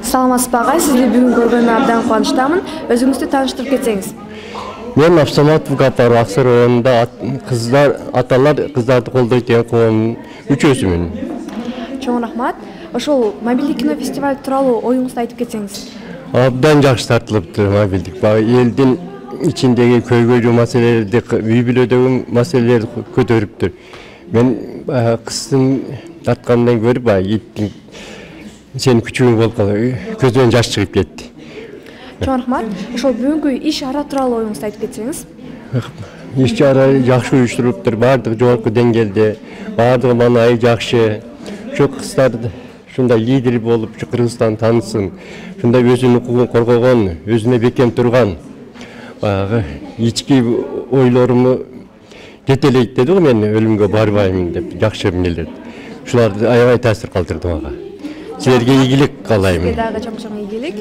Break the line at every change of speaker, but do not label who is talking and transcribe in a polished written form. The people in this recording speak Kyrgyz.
Саламатсызбы агай, сизди бүгүн көргөнүмө абдан кубанычтамын. Өзүңүздү тааныштырып кетсеңиз.
Мен Абсаматов Гапар Аксар районунда кыздар, аталар кыздарды колдойт деген коомдун мүчөсүмүн.
Чоң рахмат. Ошол мобилдик кино фестиваль тууралуу оюңузду айтып кетсеңиз.
Абдан жакшы тартылыптыр мобилдик. Элдин ичиндеги көйгөйлүү маселелерди, үй бүлөдөгү маселелерди көтөрүптүр. Мен кыздын тарткандан көрүп, иттин сенин күчүң болуп калды, көзүнөн жаш чыгып кетти.
Чоң рахмат. Ошол бүгүнкү иш ара тууралуу оюңузду айтып кетсеңиз.
Иш чара жакшы уюштуруптур, баардыгы жогорку деңгээлде, баардыгы маанайы жакшы. Ошо кыздарды ушундай лидер болуп, Кыргызстан таанысын, ушундай өзүнүн укугун коргогон, өзүнө бекем турган, баягы ички ойлорумду жетелейт деди го, мен өлүмгө барбайм деп, жакшы эмнелер. Ушуларды аябай таасир калтырды мага. Силерге ийгилик каалайм.
Сизге дагы чоң игилик.